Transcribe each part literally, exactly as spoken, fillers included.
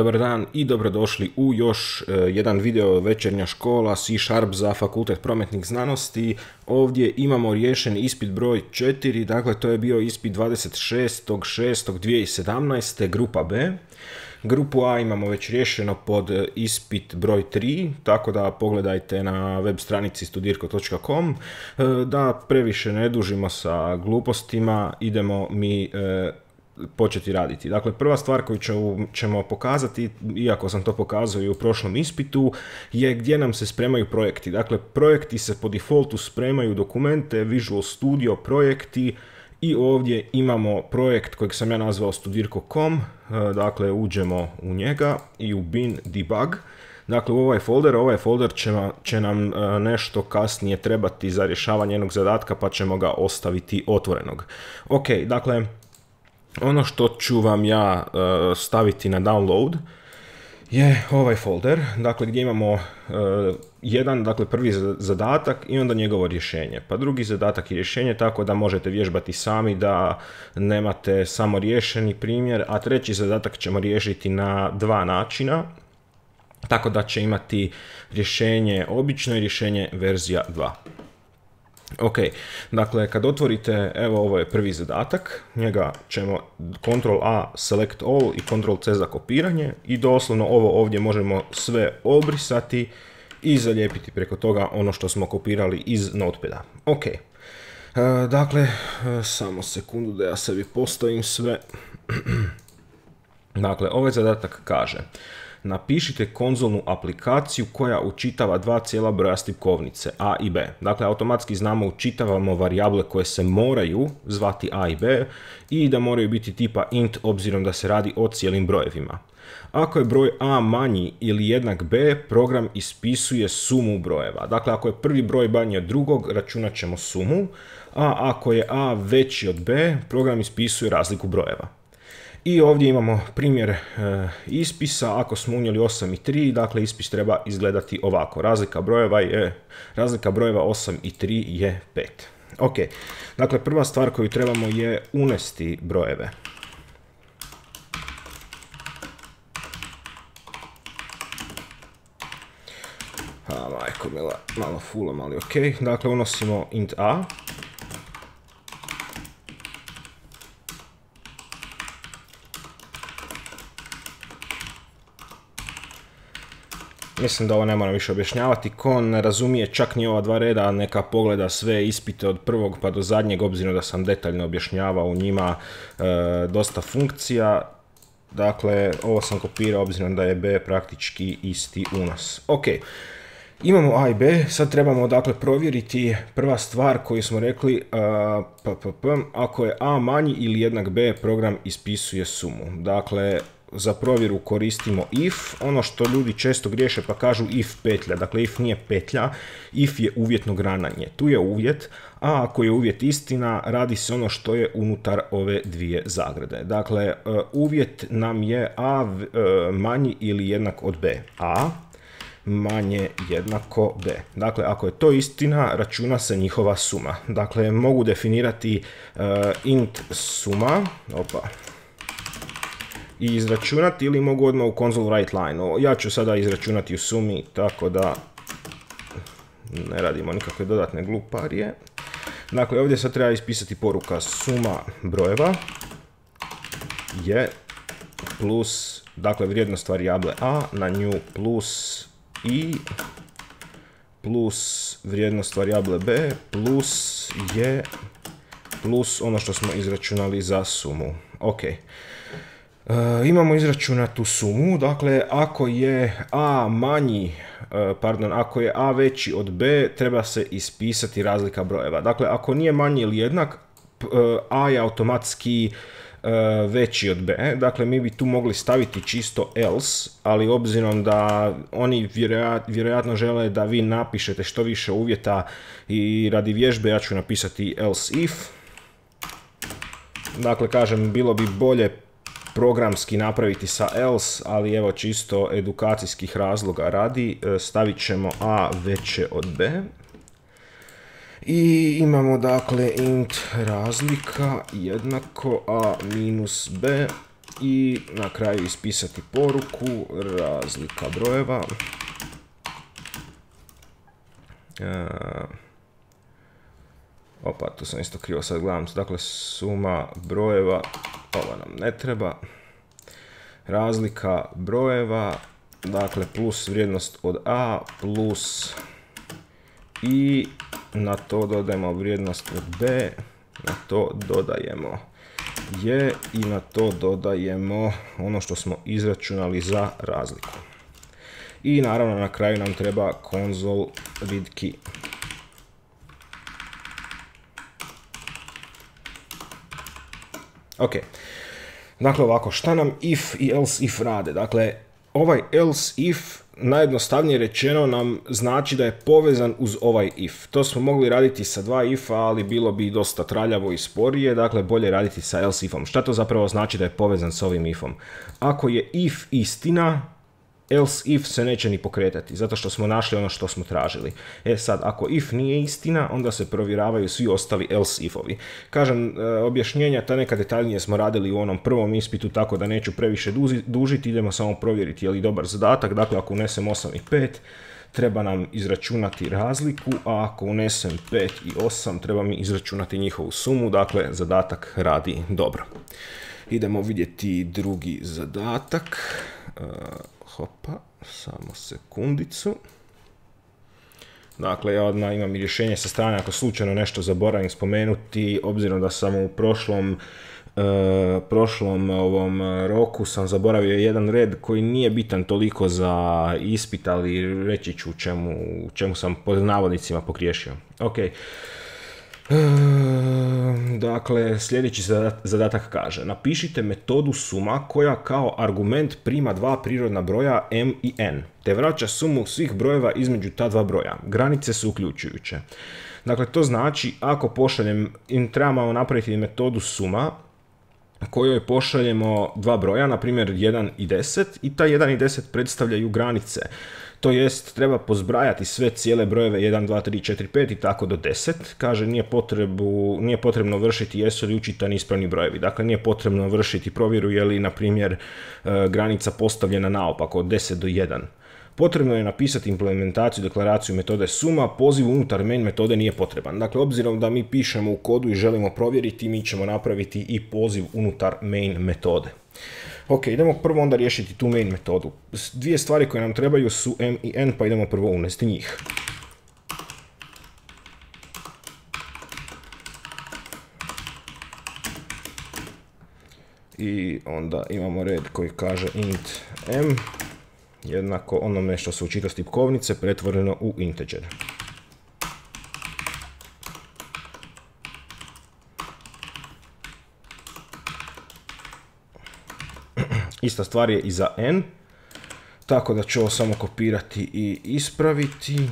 Dobar dan i dobrodošli u još uh, jedan video večernja škola C Sharp za Fakultet prometnih znanosti. Ovdje imamo riješen ispit broj četiri, dakle to je bio ispit dvadeset šestog šestog dvije tisuće sedamnaeste. grupa B. Grupu A imamo već riješeno pod ispit broj tri, tako da pogledajte na web stranici studirko točka com. Da previše ne dužimo sa glupostima, idemo mi e, početi raditi. Dakle, prva stvar koju ćemo pokazati, iako sam to pokazao i u prošlom ispitu, je gdje nam se spremaju projekti. Dakle, projekti se po defaultu spremaju dokumente, Visual Studio projekti, i ovdje imamo projekt kojeg sam ja nazvao studirko točka com, dakle uđemo u njega i u bin debug. Dakle, u ovaj folder, ovaj folder će, će nam nešto kasnije trebati za rješavanje jednog zadatka, pa ćemo ga ostaviti otvorenog. Ok, dakle, ono što ću vam ja uh, staviti na download je ovaj folder, dakle gdje imamo uh, jedan, dakle prvi zadatak i onda njegovo rješenje, pa drugi zadatak i rješenje, tako da možete vježbati sami da nemate samo riješeni primjer, a treći zadatak ćemo riješiti na dva načina, tako da će imati rješenje obično i rješenje verzija dva. Ok, dakle kad otvorite, evo ovo je prvi zadatak, njega ćemo kontrol A select all i kontrol C za kopiranje i doslovno ovo ovdje možemo sve obrisati i zalijepiti preko toga ono što smo kopirali iz notepada. Ok, e, dakle samo sekundu da ja sebi postavim sve. Dakle, ovaj zadatak kaže: napišite konzolnu aplikaciju koja učitava dva cijela broja stipkovnice A i B. Dakle, automatski znamo učitavamo varijable koje se moraju zvati A i B i da moraju biti tipa int obzirom da se radi o cijelim brojevima. Ako je broj A manji ili jednak B, program ispisuje sumu brojeva. Dakle, ako je prvi broj manji od drugog, računat ćemo sumu, a ako je A veći od B, program ispisuje razliku brojeva. I ovdje imamo primjer e, ispisa. Ako smo unijeli osam i tri, dakle ispis treba izgledati ovako. Razlika brojeva je, razlika brojeva osam i tri je pet. Ok, dakle prva stvar koju trebamo je unesti brojeve. A, majko mila, malo fulam, ali ok. Dakle, unosimo int A. Mislim da ovo ne moram više objašnjavati. Ko ne razumije čak ni ova dva reda, neka pogleda sve ispite od prvog pa do zadnjeg, obzirom da sam detaljno objašnjavao u njima e, dosta funkcija. Dakle, ovo sam kopirao obzirom da je B praktički isti unos. Ok, imamo A i B, sad trebamo dakle provjeriti prva stvar koju smo rekli, uh, p, p, p, ako je A manji ili jednak B, program ispisuje sumu. Dakle, za provjeru koristimo if, ono što ljudi često griješe pa kažu if petlja. Dakle, if nije petlja, if je uvjetno grananje. Tu je uvjet, a ako je uvjet istina, radi se ono što je unutar ove dvije zagrade. Dakle, uvjet nam je A manji ili jednak od B. A manje jednako B. Dakle, ako je to istina, računa se njihova suma. Dakle, mogu definirati uh, int suma, opa, i izračunati, ili mogu odmah u console write line. Ja ću sada izračunati u sumi, tako da ne radimo nikakve dodatne gluparije. Dakle, ovdje sad treba ispisati poruka suma brojeva je plus, dakle, vrijednost varijable A na nju plus i plus vrijednost varijable B plus je plus ono što smo izračunali za sumu. Ok. Uh, imamo izračunatu sumu, dakle ako je A manji, uh, pardon, ako je A veći od B, treba se ispisati razlika brojeva. Dakle, ako nije manji ili jednak, uh, A je automatski uh, veći od B. Dakle, mi bi tu mogli staviti čisto else, ali obzirom da oni vjerojat, vjerojatno žele da vi napišete što više uvjeta i radi vježbe, ja ću napisati else if. Dakle, kažem, bilo bi bolje programski napraviti sa else, ali evo čisto edukacijskih razloga radi, stavit ćemo A veće od B. I imamo dakle int razlika jednako A minus B i na kraju ispisati poruku, razlika brojeva. E, opa, tu sam isto krivo, sad gledam, dakle suma brojeva, ovo nam ne treba, razlika brojeva, dakle plus vrijednost od a plus i na to dodajemo vrijednost od b, na to dodajemo je i na to dodajemo ono što smo izračunali za razliku. I naravno na kraju nam treba console read key. Ok, dakle ovako, šta nam if i else if rade? Dakle, ovaj else if najjednostavnije rečeno nam znači da je povezan uz ovaj if. To smo mogli raditi sa dva ifa, ali bilo bi dosta traljavo i sporije, dakle bolje raditi sa else ifom. Šta to zapravo znači da je povezan s ovim ifom? Ako je if istina, else if se neće ni pokretati, zato što smo našli ono što smo tražili. E sad, ako if nije istina, onda se provjeravaju svi ostali else ifovi. Kažem, objašnjenja ta neka detaljnije smo radili u onom prvom ispitu, tako da neću previše dužiti, idemo samo provjeriti je li dobar zadatak. Dakle, ako unesem osam i pet, treba nam izračunati razliku, a ako unesem pet i osam, treba mi izračunati njihovu sumu, dakle, zadatak radi dobro. Idemo vidjeti drugi zadatak. Hopa, samo sekundicu. Dakle, ja odmah imam i rješenje sa strane ako slučajno nešto zaboravim spomenuti, obzirom da sam u prošlom, uh, prošlom ovom roku sam zaboravio jedan red koji nije bitan toliko za ispit, ali reći ću u čemu, čemu sam pod navodnicima pogriješio. Ok. Dakle, sljedeći zadatak kaže: napišite metodu suma koja kao argument prima dva prirodna broja m i n, te vraća sumu svih brojeva između ta dva broja. Granice su uključujuće. Dakle, to znači ako pošaljem, trebamo napraviti metodu suma kojoj pošaljemo dva broja, na primjer jedan i deset, i ta jedan i deset predstavljaju granice. To jest, treba pozbrajati sve cijele brojeve jedan, dva, tri, četiri, pet i tako do deset. Kaže, nije, potrebu, nije potrebno vršiti jesu li učitani ispravni brojevi. Dakle, nije potrebno vršiti provjeru je li, na primjer, granica postavljena naopako od deset do jedan. Potrebno je napisati implementaciju, deklaraciju metode suma, poziv unutar main metode nije potreban. Dakle, obzirom da mi pišemo u kodu i želimo provjeriti, mi ćemo napraviti i poziv unutar main metode. Ok, idemo prvo onda riješiti tu main metodu. Dvije stvari koje nam trebaju su m i n, pa idemo prvo unesti njih. I onda imamo red koji kaže int m jednako onome što se učita s tipkovnice pretvoreno u integer. Ista stvar je i za n, tako da ću ovo samo kopirati i ispraviti.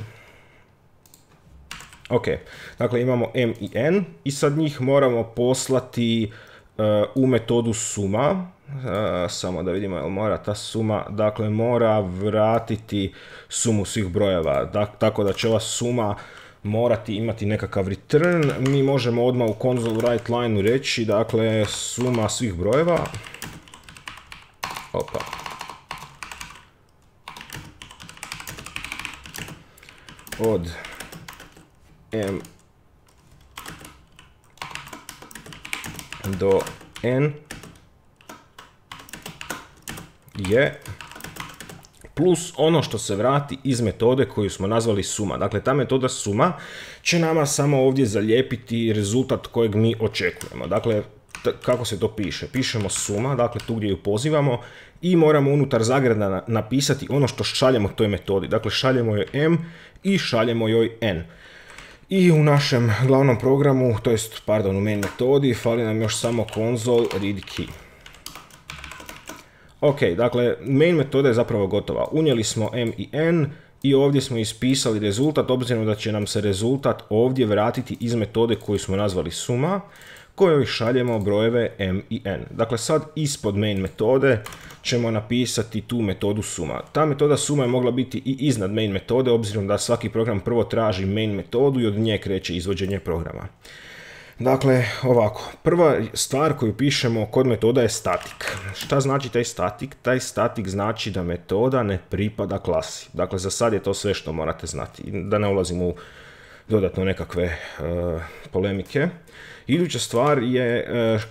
Ok, dakle imamo m i n i sad njih moramo poslati uh, u metodu suma. Uh, samo da vidimo jel mora ta suma, dakle mora vratiti sumu svih brojeva, dak, tako da će ova suma morati imati nekakav return. Mi možemo odmah u console write line reći, dakle suma svih brojeva. Opa. Od m do n je plus ono što se vrati iz metode koju smo nazvali suma. Dakle, ta metoda suma će nama samo ovdje zalijepiti rezultat kojeg mi očekujemo. Dakle, kako se to piše? Pišemo suma, dakle tu gdje ju pozivamo, i moramo unutar zagrada napisati ono što šaljemo toj metodi. Dakle, šaljemo joj m i šaljemo joj n. I u našem glavnom programu, to jest, pardon, u main metodi, fali nam još samo console read key. Ok, dakle, main metoda je zapravo gotova. Unijeli smo m i n i ovdje smo ispisali rezultat, obzirom da će nam se rezultat ovdje vratiti iz metode koju smo nazvali suma, kojoj šaljemo brojeve m i n. Dakle, sad ispod main metode ćemo napisati tu metodu suma. Ta metoda suma je mogla biti i iznad main metode, obzirom da svaki program prvo traži main metodu i od nje kreće izvođenje programa. Dakle, ovako, prva stvar koju pišemo kod metoda je statik. Šta znači taj statik? Taj statik znači da metoda ne pripada klasi. Dakle, za sad je to sve što morate znati. Da ne ulazimo u dodatno nekakve uh, polemike. Iduća stvar je uh,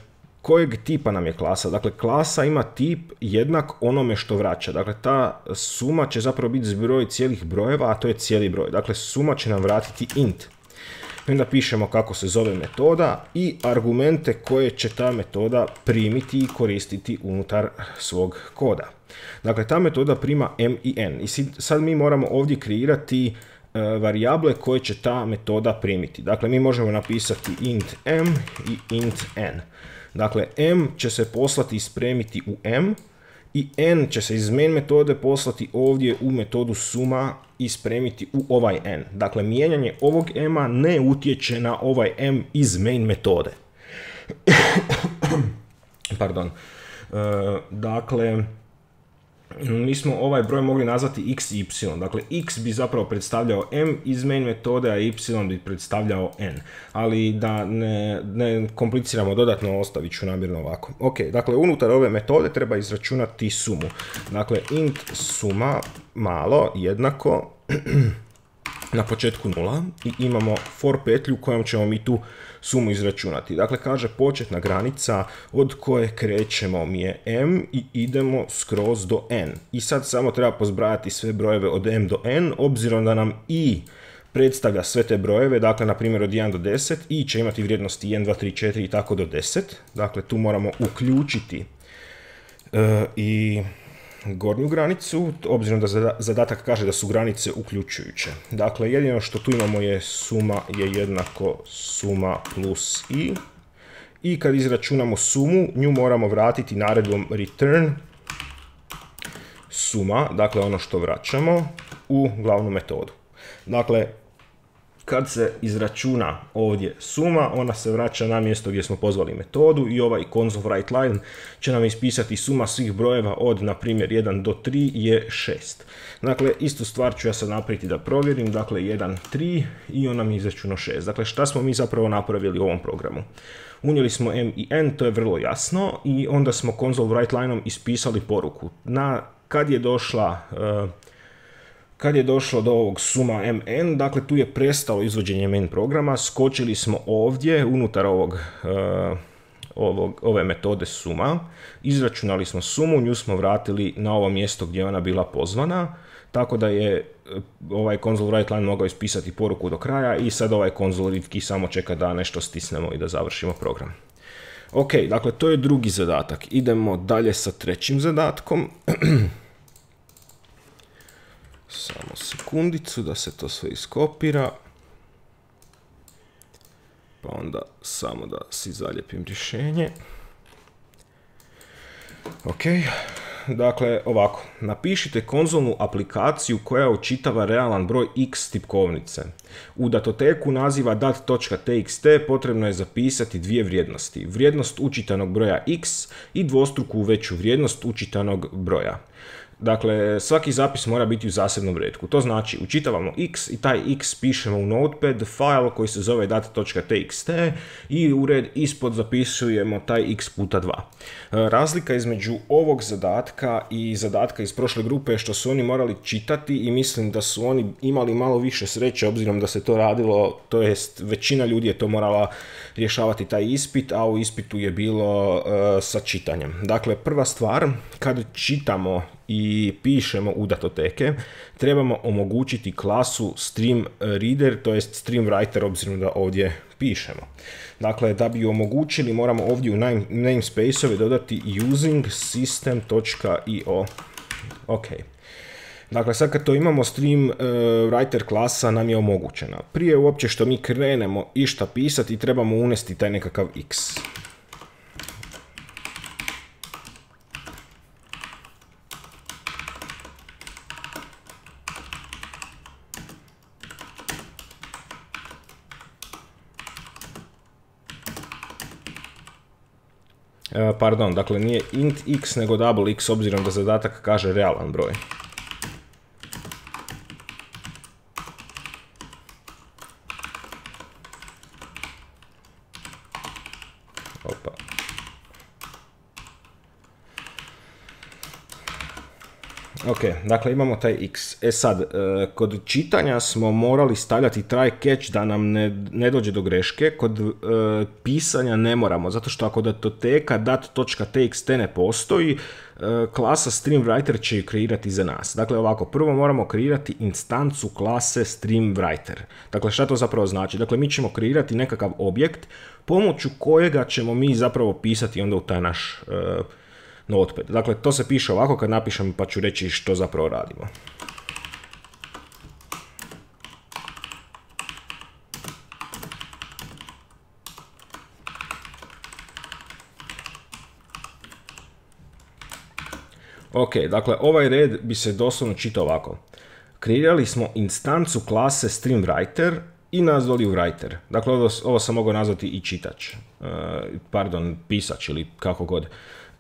kojeg tipa nam je klasa. Dakle, klasa ima tip jednak onome što vraća. Dakle, ta suma će zapravo biti zbroj cijelih brojeva, a to je cijeli broj. Dakle, suma će nam vratiti int. I onda pišemo kako se zove metoda i argumente koje će ta metoda primiti i koristiti unutar svog koda. Dakle, ta metoda prima m i n. I sad mi moramo ovdje kreirati uh, varijable koje će ta metoda primiti. Dakle, mi možemo napisati int m i int n. Dakle, m će se poslati i spremiti u m i n će se iz main metode poslati ovdje u metodu suma i spremiti u ovaj n. Dakle, mijenjanje ovog m-a ne utječe na ovaj m iz main metode. Pardon. E, dakle, mi smo ovaj broj mogli nazvati x i y. Dakle, x bi zapravo predstavljao m iz main metode, a y bi predstavljao n. Ali da ne, ne kompliciramo dodatno, ostavit ću namjerno ovako. Ok, dakle, unutar ove metode treba izračunati sumu. Dakle, int suma malo jednako na početku nula i imamo for petlju kojom ćemo mi tu sumu izračunati. Dakle, kaže početna granica od koje krećemo mi je m i idemo skroz do n. I sad samo treba pozbrajati sve brojeve od m do n, obzirom da nam i predstavlja sve te brojeve, dakle, na primjer od jedan do deset, i će imati vrijednosti jedan, dva, tri, četiri i tako do deset. Dakle, tu moramo uključiti uh, i gornju granicu, obzirom da zadatak kaže da su granice uključujuće. Dakle, jedino što tu imamo je suma je jednako suma plus i. I kad izračunamo sumu, nju moramo vratiti naredbom return suma, dakle ono što vraćamo, u glavnu metodu. Dakle, kad se izračuna ovdje suma, ona se vraća na mjesto gdje smo pozvali metodu i ovaj console write line će nam ispisati suma svih brojeva od, na primjer, jedan do tri je šest. Dakle, istu stvar ću ja sad napraviti da provjerim. Dakle, jedan, tri i on nam je izračunao šest. Dakle, šta smo mi zapravo napravili u ovom programu? Unijeli smo m i n, to je vrlo jasno, i onda smo console write lineom ispisali poruku. Na, kad je došla... Uh, Kad je došlo do ovog suma mn, dakle tu je prestalo izvođenje main programa, skočili smo ovdje unutar ovog, uh, ovog, ove metode suma, izračunali smo sumu, nju smo vratili na ovo mjesto gdje je ona bila pozvana, tako da je ovaj console write line mogao ispisati poruku do kraja i sad ovaj console read key samo čeka da nešto stisnemo i da završimo program. Ok, dakle to je drugi zadatak. Idemo dalje sa trećim zadatkom. Samo sekundicu da se to sve iskopira. Pa onda samo da si zalijepim rješenje. Ok, dakle ovako, napišite konzolnu aplikaciju koja učitava realan broj x tipkovnice. U datoteku naziva dat.txt potrebno je zapisati dvije vrijednosti. Vrijednost učitanog broja x i dvostruku veću vrijednost učitanog broja. Dakle, svaki zapis mora biti u zasebnom retku. To znači, učitavamo x i taj x pišemo u notepad file koji se zove dat.txt i u red ispod zapisujemo taj x puta dva. Razlika između ovog zadatka i zadatka iz prošle grupe je što su oni morali čitati i mislim da su oni imali malo više sreće obzirom da se to radilo, to jest većina ljudi je to morala rješavati taj ispit, a u ispitu je bilo uh, sa čitanjem. Dakle, prva stvar, kad čitamo i pišemo u datoteke, trebamo omogućiti klasu stream reader, to jest stream writer, obzirom da ovdje pišemo. Dakle, da bi omogućili, moramo ovdje u namespace-ove dodati using system.io. Ok. Dakle, sad kad to imamo, stream uh, writer klasa nam je omogućena. Prije uopće što mi krenemo išta pisati, trebamo unesti taj nekakav x. Pardon, dakle nije int x nego double x obzirom da zadatak kaže realan broj. Opa. Ok, dakle imamo taj x. E sad, kod čitanja smo morali stavljati try catch da nam ne, ne dođe do greške, kod uh, pisanja ne moramo, zato što ako datoteka dat.txt ne postoji, uh, klasa StreamWriter će ju kreirati za nas. Dakle ovako, prvo moramo kreirati instancu klase StreamWriter. Dakle šta to zapravo znači? Dakle mi ćemo kreirati nekakav objekt pomoću kojega ćemo mi zapravo pisati onda u taj naš uh, Notepad. Dakle, to se piše ovako kad napišem pa ću reći što zapravo radimo. Ok, dakle ovaj red bi se doslovno čitao ovako. Kreirali smo instancu klase StreamWriter i nazvali ju writer. Dakle, ovo, ovo sam mogao nazvati i čitač. Uh, pardon, pisač ili kako god.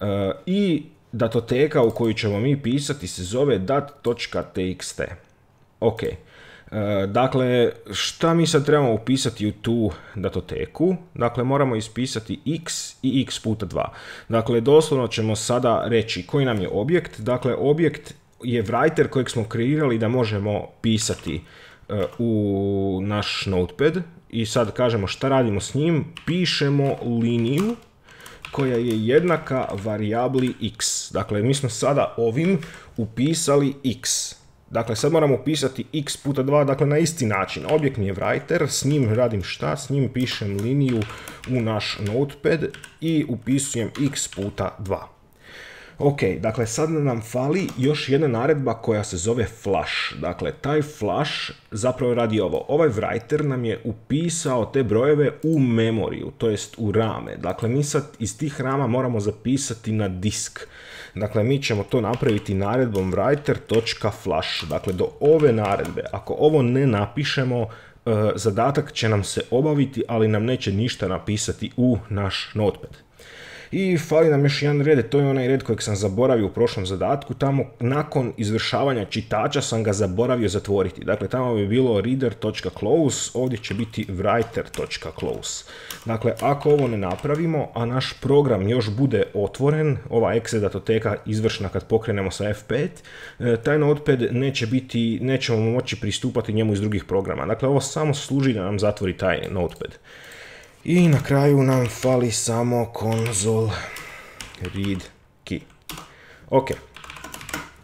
Uh, I datoteka u koju ćemo mi pisati se zove dat.txt. Ok. Uh, dakle, šta mi sad trebamo upisati u tu datoteku? Dakle, moramo ispisati x i x puta dva. Dakle, doslovno ćemo sada reći koji nam je objekt. Dakle, objekt je writer kojeg smo kreirali da možemo pisati uh, u naš Notepad. I sad kažemo šta radimo s njim. Pišemo liniju koja je jednaka varijabli x. Dakle, mi smo sada ovim upisali x. Dakle, sad moramo upisati x puta dva, dakle na isti način. Objekt mi je writer, s njim radim šta? S njim pišem liniju u naš Notepad i upisujem x puta dva. Ok, dakle sad nam fali još jedna naredba koja se zove flush. Dakle, taj flush zapravo radi ovo. Ovaj writer nam je upisao te brojeve u memoriju, to jest u rame. Dakle, mi sad iz tih rama moramo zapisati na disk. Dakle, mi ćemo to napraviti naredbom writer.flush. Dakle, do ove naredbe, ako ovo ne napišemo, zadatak će nam se obaviti, ali nam neće ništa napisati u naš Notepad. I fali nam još jedan red, to je onaj red kojeg sam zaboravio u prošlom zadatku, tamo nakon izvršavanja čitača sam ga zaboravio zatvoriti. Dakle, tamo bi bilo reader.close, ovdje će biti writer.close. Dakle, ako ovo ne napravimo, a naš program još bude otvoren, ova exe datoteka izvršna kad pokrenemo sa F pet, taj Notepad neće biti, nećemo moći pristupati njemu iz drugih programa. Dakle, ovo samo služi da nam zatvori taj Notepad. I na kraju nam fali samo console read key. Ok.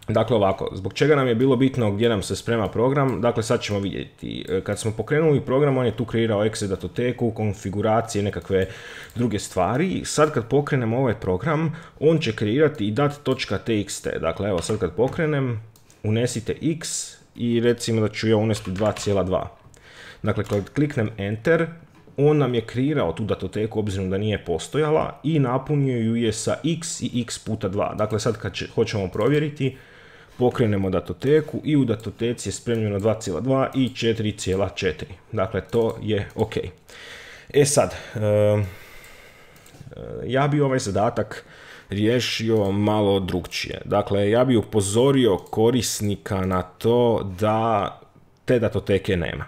Dakle ovako, zbog čega nam je bilo bitno gdje nam se sprema program, dakle sad ćemo vidjeti. Kad smo pokrenuli program, on je tu kreirao exe datoteku, konfiguracije, nekakve druge stvari. Sad kad pokrenemo ovaj program, on će kreirati i dat.txt. Dakle evo sad kad pokrenem, unesite x i recimo da ću ja unesti dva zarez dva. Dakle kad kliknem enter, on nam je kreirao tu datoteku obzirom da nije postojala i napunio ju je sa x i x puta dva. Dakle sad kad će, hoćemo provjeriti, pokrenemo datoteku i u datoteci je spremljeno dva zarez dva i četiri zarez četiri. Dakle to je ok. E sad, uh, ja bi ovaj zadatak riješio malo drugčije. Dakle, ja bi upozorio korisnika na to da te datoteke nema.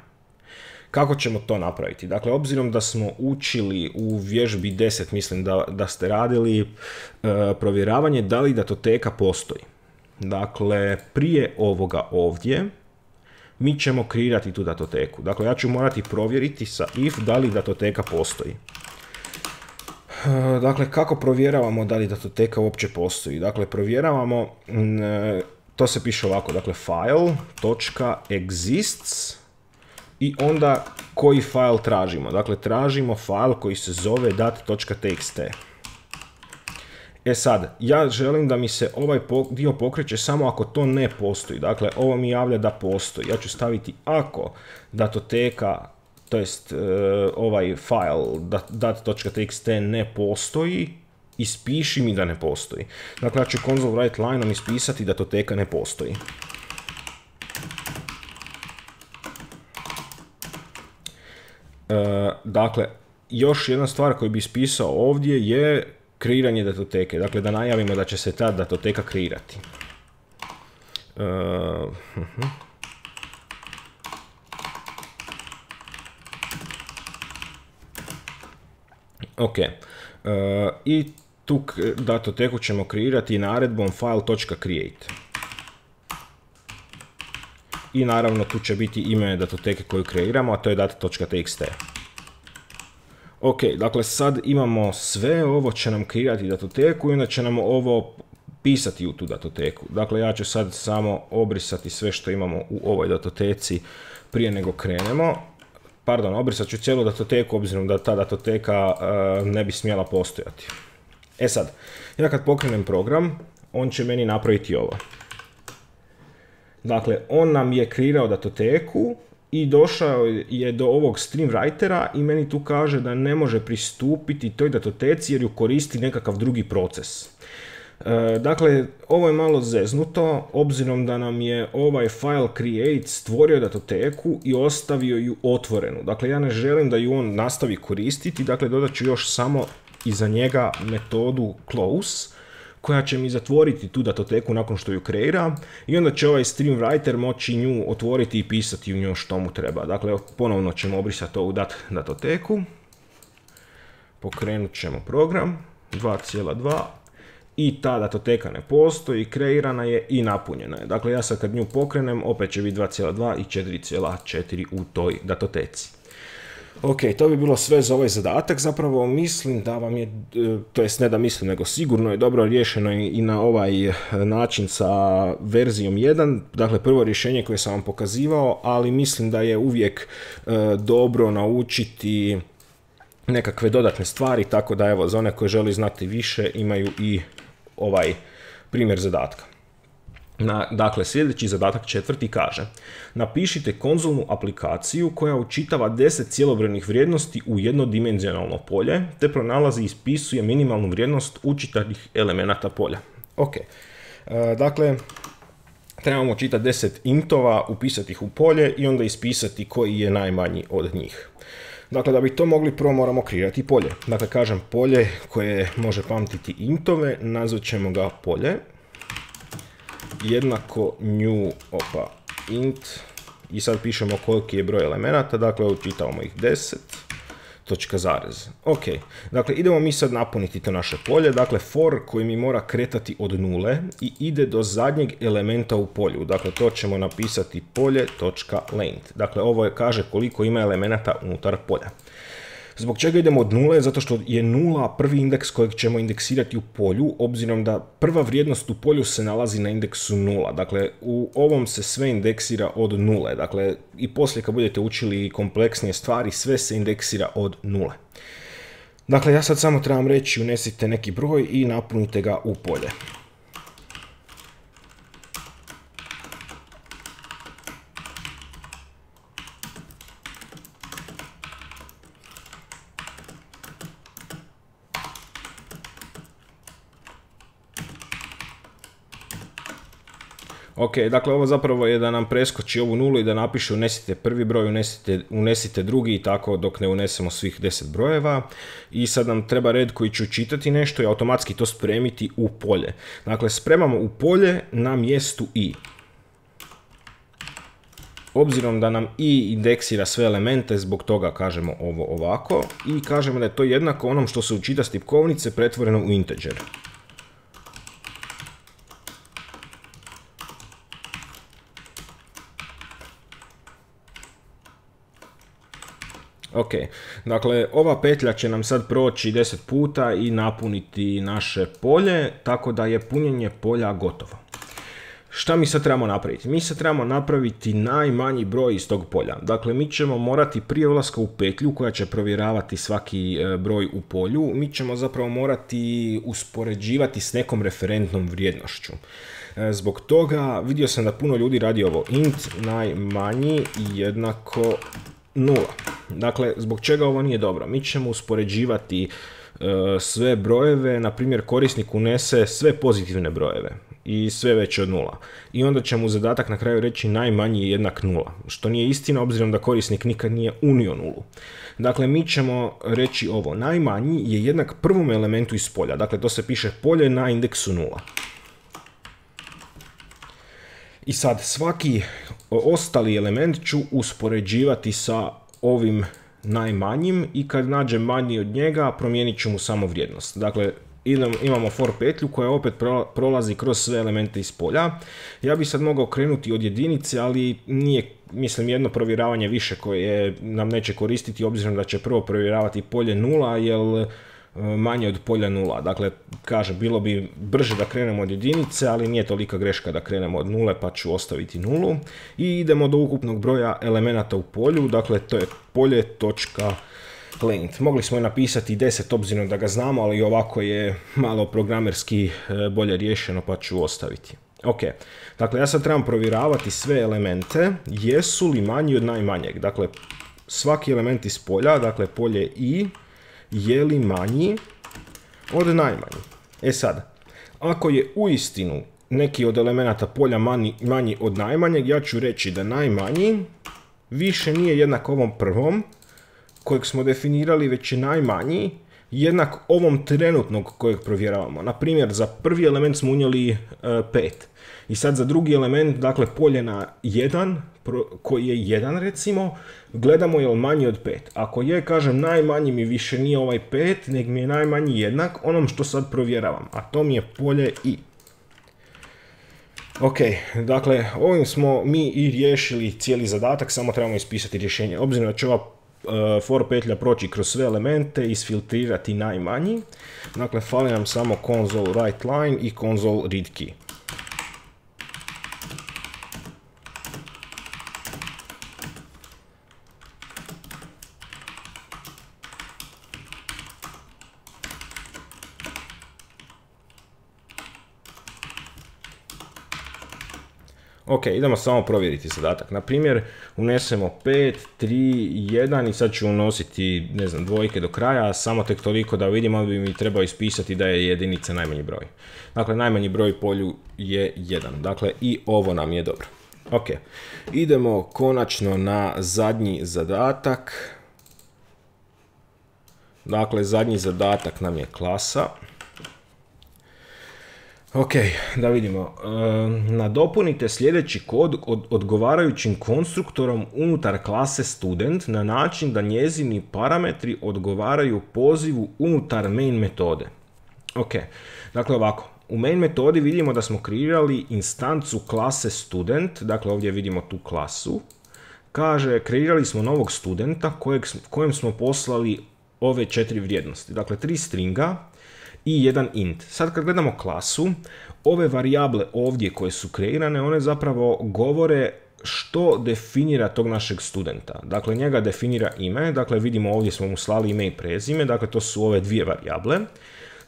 Kako ćemo to napraviti? Dakle, obzirom da smo učili u vježbi deset, mislim da, da ste radili, e, provjeravanje da li datoteka postoji. Dakle, prije ovoga ovdje, mi ćemo kreirati tu datoteku. Dakle, ja ću morati provjeriti sa if da li datoteka postoji. E, dakle, kako provjeravamo da li datoteka uopće postoji? Dakle, provjeravamo, e, to se piše ovako, dakle, file.exists i onda koji file tražimo. Dakle, tražimo file koji se zove dat.txt. E sad, ja želim da mi se ovaj dio pokreće samo ako to ne postoji. Dakle, ovo mi javlja da postoji. Ja ću staviti ako datoteka, to jest ovaj file dat.txt ne postoji, ispiši mi da ne postoji. Dakle, ja ću console write lineom ispisati datoteka ne postoji. Uh, dakle, još jedna stvar koju bi ispisao ovdje je kreiranje datoteke. Dakle, da najavimo da će se ta datoteka kreirati. Uh, uh-huh. Ok. Uh, I tu datoteku ćemo kreirati naredbom file.create. I naravno tu će biti ime datoteke koju kreiramo, a to je data.txt. Ok, dakle sad imamo sve, ovo će nam kreirati datoteku i onda će nam ovo pisati u tu datoteku. Dakle, ja ću sad samo obrisati sve što imamo u ovoj datoteci prije nego krenemo. Pardon, obrisat ću cijelu datoteku obzirom da ta datoteka uh, ne bi smjela postojati. E sad, ja kad pokrenem program, on će meni napraviti ovo. Dakle, on nam je kreirao datoteku i došao je do ovog stream writera i meni tu kaže da ne može pristupiti toj datoteci jer ju koristi nekakav drugi proces. E, dakle, ovo je malo zeznuto obzirom da nam je ovaj file create stvorio datoteku i ostavio ju otvorenu. Dakle, ja ne želim da ju on nastavi koristiti, dakle dodat ću još samo iza njega metodu close koja će mi zatvoriti tu datoteku nakon što ju kreira i onda će ovaj stream writer moći nju otvoriti i pisati u nju što mu treba. Dakle, ponovno ćemo obrisati ovu dat datoteku, pokrenut ćemo program dva cijela dva i ta datoteka ne postoji, kreirana je i napunjena je. Dakle, ja sad kad nju pokrenem opet će biti dva cijela dva i četiri cijela četiri u toj datoteci. Ok, to bi bilo sve za ovaj zadatak, zapravo mislim da vam je, to jest ne da mislim, nego sigurno je dobro riješeno i na ovaj način sa verzijom jedan, dakle prvo rješenje koje sam vam pokazivao, ali mislim da je uvijek e, dobro naučiti nekakve dodatne stvari, tako da evo, za one koje želi znati više imaju i ovaj primjer zadatka. Na, dakle, sljedeći zadatak četvrti kaže: napišite konzolnu aplikaciju koja učitava deset cjelobrojnih vrijednosti u jednodimenzionalno polje, te pronalazi i ispisuje minimalnu vrijednost učitanih elemenata polja. Ok, e, dakle, trebamo čitati deset intova, upisati ih u polje i onda ispisati koji je najmanji od njih. Dakle, da bi to mogli, prvo moramo kreirati polje. Dakle, kažem polje koje može pamtiti intove, nazvat ćemo ga polje. Jednako new, opa, int, i sad pišemo koliki je broj elemenata, dakle učitavamo ih deset, točka zarez. Ok, dakle idemo mi sad napuniti to naše polje, dakle for koji mi mora kretati od nule i ide do zadnjeg elementa u polju, dakle to ćemo napisati polje.length, dakle ovo je kaže koliko ima elemenata unutar polja. Zbog čega idemo od nule? Zato što je nula prvi indeks kojeg ćemo indeksirati u polju, obzirom da prva vrijednost u polju se nalazi na indeksu nula. Dakle, u ovom se sve indeksira od nule. Dakle, i poslije kad budete učili kompleksnije stvari, sve se indeksira od nule. Dakle, ja sad samo trebam reći unesite neki broj i napunite ga u polje. Ok, dakle ovo zapravo je da nam preskoči ovu nulu i da napiše unesite prvi broj, unesite, unesite drugi i tako dok ne unesemo svih deset brojeva. I sad nam treba red koji će čitati nešto i automatski to spremiti u polje. Dakle, spremamo u polje na mjestu i. Obzirom da nam i indeksira sve elemente, zbog toga kažemo ovo ovako. I kažemo da je to jednako onom što se učita s tipkovnice pretvoreno u integer. Ok, dakle ova petlja će nam sad proći deset puta i napuniti naše polje, tako da je punjenje polja gotovo. Šta mi sad trebamo napraviti? Mi sad trebamo napraviti najmanji broj iz tog polja. Dakle, mi ćemo morati prije ulaska u petlju koja će provjeravati svaki broj u polju, mi ćemo zapravo morati uspoređivati s nekom referentnom vrijednošću. Zbog toga vidio sam da puno ljudi radi ovo int najmanji jednako nula. Dakle, zbog čega ovo nije dobro? Mi ćemo uspoređivati e, sve brojeve, na primjer korisnik unese sve pozitivne brojeve i sve veće od nula. I onda će mu zadatak na kraju reći najmanji je jednak nula, što nije istina obzirom da korisnik nikad nije unio nulu. Dakle, mi ćemo reći ovo, najmanji je jednak prvom elementu iz polja, dakle to se piše polje na indeksu nula. I sad svaki ostali element ću uspoređivati sa ovim najmanjim i kad nađem manji od njega promijenit ću mu samo vrijednost. Dakle, imamo for petlju koja opet prolazi kroz sve elemente iz polja. Ja bi sad mogao krenuti od jedinice, ali nije, mislim, jedno provjeravanje više koje nam neće koristiti obzirom da će prvo provjeravati polje nula, jer manje od polja nula. Dakle, kaže, bilo bi brže da krenemo od jedinice, ali nije tolika greška da krenemo od nule, pa ću ostaviti nulu. I idemo do ukupnog broja elemenata u polju, dakle to je polje.length. Mogli smo je napisati deset obzirom da ga znamo, ali ovako je malo programerski bolje riješeno, pa ću ostaviti. Ok, dakle ja sad trebam provjeravati sve elemente, jesu li manji od najmanjeg. Dakle, svaki element iz polja, dakle polje i, je li manji od najmanji. E sad, ako je uistinu neki od elemenata polja manji, manji od najmanjeg, ja ću reći da najmanji više nije jednak ovom prvom kojeg smo definirali, već je najmanji jednak ovom trenutnog kojeg provjeravamo. Na primjer, za prvi element smo unijeli pet. I sad za drugi element, dakle polje na jedan, koji je jedan recimo, gledamo je li manji od pet. Ako je, kažem, najmanji mi više nije ovaj pet, nek mi je najmanji jednak onom što sad provjeravam, a to mi je polje i. Ok, dakle, ovim smo mi i riješili cijeli zadatak, samo trebamo ispisati rješenje. Obzirom da će ova uh, for petlja proći kroz sve elemente i isfiltrirati najmanji, dakle, fali nam samo console write line i console read key. Ok, idemo samo provjeriti zadatak. Na primjer, unesemo pet, tri, jedan i sad ću unositi, ne znam, dvojke do kraja, samo tek toliko da vidimo, bi mi trebao ispisati da je jedinica najmanji broj. Dakle, najmanji broj polju je jedan. Dakle, i ovo nam je dobro. Ok, idemo konačno na zadnji zadatak. Dakle, zadnji zadatak nam je klasa. Ok, da vidimo. E, nadopunite sljedeći kod od odgovarajućim konstruktorom unutar klase student na način da njezini parametri odgovaraju pozivu unutar main metode. Ok, dakle ovako. U main metodi vidimo da smo kreirali instancu klase student, dakle ovdje vidimo tu klasu. Kaže, kreirali smo novog studenta kojeg, kojem smo poslali ove četiri vrijednosti. Dakle, tri stringa i jedan int. Sad kad gledamo klasu, ove varijable ovdje koje su kreirane, one zapravo govore što definira tog našeg studenta. Dakle, njega definira ime, dakle vidimo ovdje smo mu slali ime i prezime, dakle to su ove dvije varijable.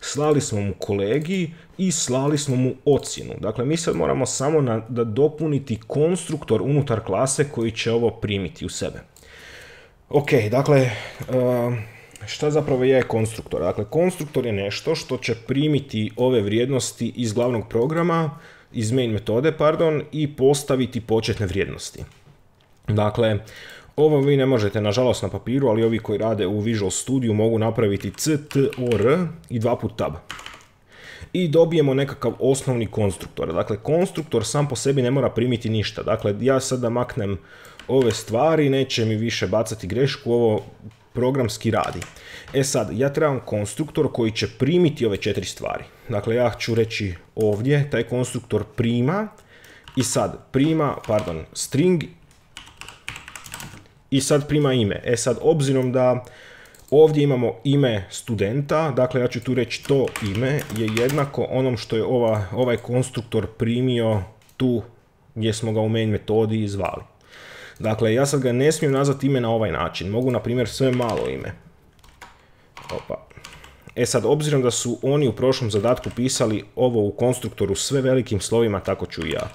Slali smo mu kolegi i slali smo mu ocjenu. Dakle, mi sad moramo samo na, da dopuniti konstruktor unutar klase koji će ovo primiti u sebe. Ok, dakle, uh, šta zapravo je konstruktor? Dakle, konstruktor je nešto što će primiti ove vrijednosti iz glavnog programa, iz main metode, pardon, i postaviti početne vrijednosti. Dakle, ovo vi ne možete, nažalost, na papiru, ali ovi koji rade u Visual Studio mogu napraviti c, t, o, r i dva put tab. I dobijemo nekakav osnovni konstruktor. Dakle, konstruktor sam po sebi ne mora primiti ništa. Dakle, ja sad da maknem ove stvari, neće mi više bacati grešku, ovo programski radi. E sad, ja trebam konstruktor koji će primiti ove četiri stvari. Dakle, ja ću reći ovdje, taj konstruktor prima, i sad prima, pardon, string, i sad prima ime. E sad, obzirom da ovdje imamo ime studenta, dakle ja ću tu reći to ime je jednako onom što je ova, ovaj konstruktor primio tu gdje smo ga u main metodi zvali. Dakle, ja sad ga ne smijem nazvati ime na ovaj način. Mogu, na primjer, sve malo ime. Opa. E sad, obzirom da su oni u prošlom zadatku pisali ovo u konstruktoru sve velikim slovima, tako ću i ja.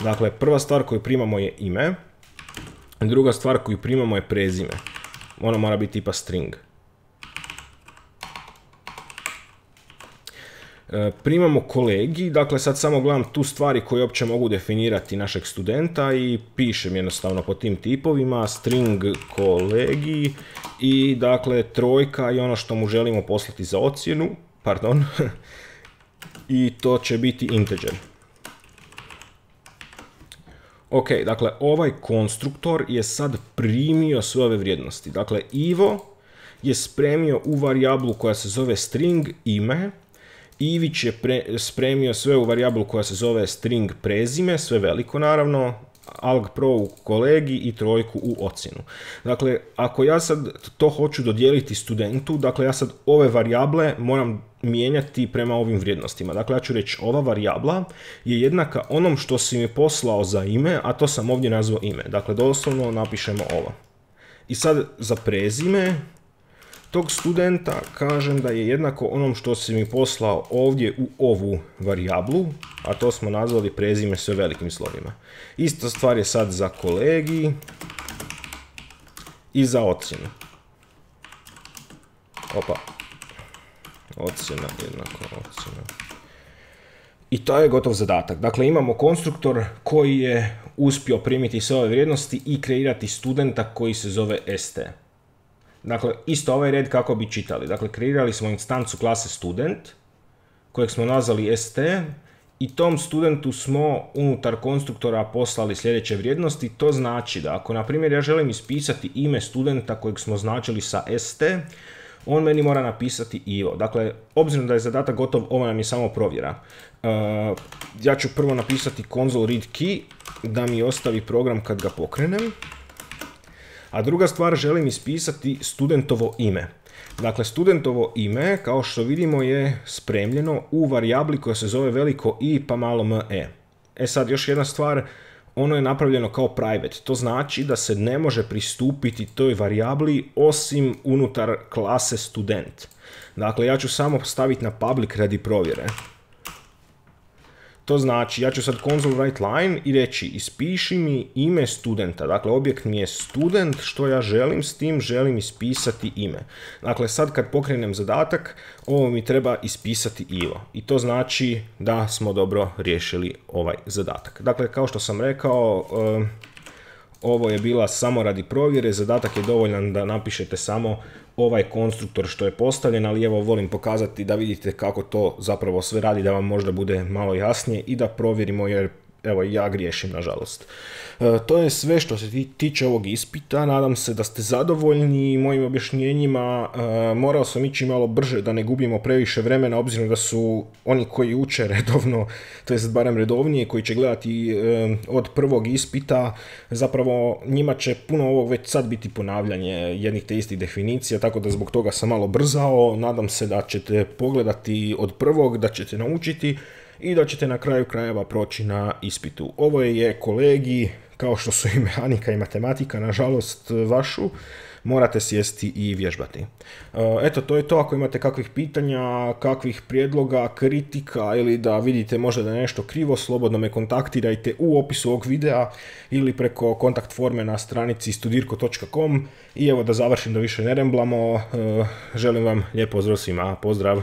Dakle, prva stvar koju primamo je ime. Druga stvar koju primamo je prezime. Ono mora biti tipa string. E, primamo kolegi, dakle sad samo gledam tu stvari koje uopće mogu definirati našeg studenta i pišem jednostavno po tim tipovima string kolegi i dakle trojka i ono što mu želimo poslati za ocjenu, pardon, i to će biti integer. Ok, dakle ovaj konstruktor je sad primio sve ove vrijednosti. Dakle, Ivo je spremio u varijablu koja se zove string ime, Ivić je pre, spremio sve u varijablu koja se zove string prezime, sve veliko naravno, algpro u kolegi i trojku u ocjenu. Dakle, ako ja sad to hoću dodijeliti studentu, dakle ja sad ove varijable moram mijenjati prema ovim vrijednostima. Dakle, ja ću reći ova varijabla je jednaka onom što si mi poslao za ime, a to sam ovdje nazvao ime. Dakle, doslovno napišemo ovo. I sad za prezime tog studenta kažem da je jednako onom što si mi poslao ovdje u ovu varijablu, a to smo nazvali prezime sve velikim slovima. Ista stvar je sad za kolegi i za ocjenu. Opa. Ocjena jednako ocjena. I to je gotov zadatak. Dakle, imamo konstruktor koji je uspio primiti sve ove vrijednosti i kreirati studenta koji se zove st. Dakle, isto ovaj red kako bi čitali. Dakle, kreirali smo instancu klase student, kojeg smo nazvali st, i tom studentu smo unutar konstruktora poslali sljedeće vrijednosti. To znači da ako, na primjer, ja želim ispisati ime studenta kojeg smo označili sa st, on meni mora napisati Ivo. Dakle, obzirom da je zadatak gotov, ovo nam je samo provjera. Uh, ja ću prvo napisati console read key, da mi ostavi program kad ga pokrenem. A druga stvar, želim ispisati studentovo ime. Dakle, studentovo ime, kao što vidimo, je spremljeno u varijabli koja se zove veliko I pa malo me. E sad, još jedna stvar, ono je napravljeno kao private. To znači da se ne može pristupiti toj varijabli osim unutar klase student. Dakle, ja ću samo staviti na public radi provjere. To znači, ja ću sad console write line i reći ispiši mi ime studenta. Dakle, objekt mi je student, što ja želim s tim, želim ispisati ime. Dakle, sad kad pokrenem zadatak, ovo mi treba ispisati Ivo. I to znači da smo dobro riješili ovaj zadatak. Dakle, kao što sam rekao, ovo je bila samo radi provjere, zadatak je dovoljan da napišete samo ovaj konstruktor što je postavljen, ali evo volim pokazati da vidite kako to zapravo sve radi, da vam možda bude malo jasnije i da provjerimo, jer evo ja griješim nažalost. E, to je sve što se tiče ovog ispita, nadam se da ste zadovoljni mojim objašnjenjima. E, morao sam ići malo brže da ne gubimo previše vremena, obzirom da su oni koji uče redovno, to jest barem redovnije, koji će gledati e, od prvog ispita, zapravo njima će puno ovog već sad biti ponavljanje jednih te istih definicija, tako da zbog toga sam malo brzao. Nadam se da ćete pogledati od prvog, da ćete naučiti i da ćete na kraju krajeva proći na ispitu. Ovo je kolegij, kao što su i mehanika i matematika, nažalost vašu, morate sjesti i vježbati. Eto, to je to. Ako imate kakvih pitanja, kakvih prijedloga, kritika ili da vidite možda da je nešto krivo, slobodno me kontaktirajte u opisu ovog videa ili preko kontakt forme na stranici studirko točka com. I evo da završim, da više ne remblamo, želim vam lijep pozdrav svima. Pozdrav!